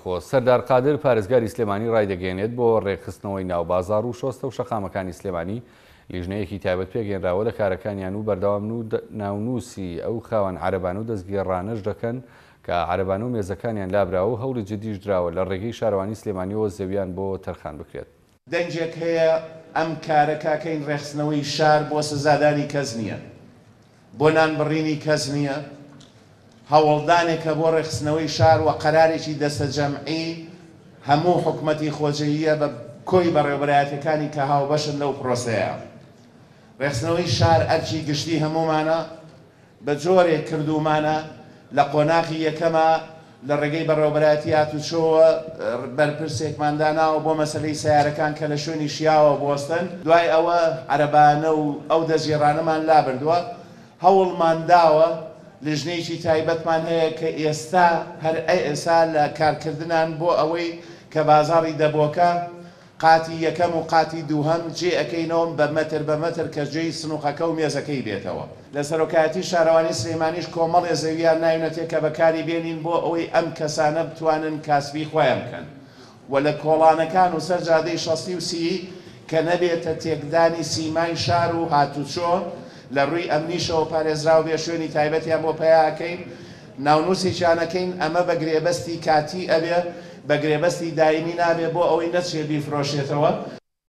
ناوخۆ، سەردار قادر پارێزگاری سلێمانی ڕایدەگەیەنێت، بۆ ڕێکخستنەوەی ناو بازاڕ و شۆستە و شەقامەکانی سلێمانی لیژنەیەکی تایبەت پێکهێنراوە لە کارەکانیان و بەردەوامن و ناونووسی ئەو خاوەن عەرەبانە و دەستگێڕانەش دەکەن کە عەرەبانە و مێزەکانیان لابراوە و هەوڵی جدیش دراوە لە ڕێگەی شارەوانی سلێمانیەوە زەویان بۆ تەرخان بکرێت. دەنگێک هەیە ئەم کارە کاکەین ڕێکخستنەوەی شار بۆ سزادانی کەس نییە، بۆ نان بڕینی کەس نییە، هەوڵدانێکە بۆ ڕێکخستنەوەی شار و قەرارێکی دەستەجەمعی هەموو حکومەتی خۆجێییە بە کۆی بەڕێوەبەرایەتیەکانی کە هاوبەشن لەو پرۆسەیە. ڕێکخستنەوەی شار ئەرکی گشتی هەموومانە، بە جۆرێک کردوومانە لە قۆناغی یەکەما لە ڕێگەی بەڕێوەبەرایەتی هاتوچۆوە بەرپرسێکمان داناوە بۆ مەسەلەی سەیارەکان کە لە شوێنی شیاوە بوەستن، دوای ئەوە عەرەبانە و ئەو دەستگێڕانەمان لابردووە، هەوڵمان داوە لیژنەیەکی تایبەتمان هەیە کە ئێستا هەر ئێستا لە کارکردنان بۆ ئەوەی کە بازاڕی دەبۆکە قاتی یەکەم و قاتی دووهەم جێ ئەکەینەوە بە مەتر بە مەتر کە جێی سنوقەکە و مێزەکەی بێتەوە. لە سەرۆکایەتی شارەوانی سلیمانیش کۆمەڵێ زەوییان ناوینەتێ کە بەکاری بێنین بۆ ئەوەی ئەم کەسانە بتوانن کاسبی خۆیان بکەن و لە کۆڵانەکان و سەر جادەی شەستی و سیی کە نەبێتە تێکدانی سیمای شار و هاتوچۆ لە رووی ئەمنیشەوە پارێزراو بێ شوێنی تایبەتیان بۆ پەیا ئەکەین ناونوسێکیان ئەکەین ئەمە بە گرێبەستی کاتی ئەبێ بە گرێبەستی دایمی نابێ بۆ ئەوەی نەچێ بیفرۆشێتەوە.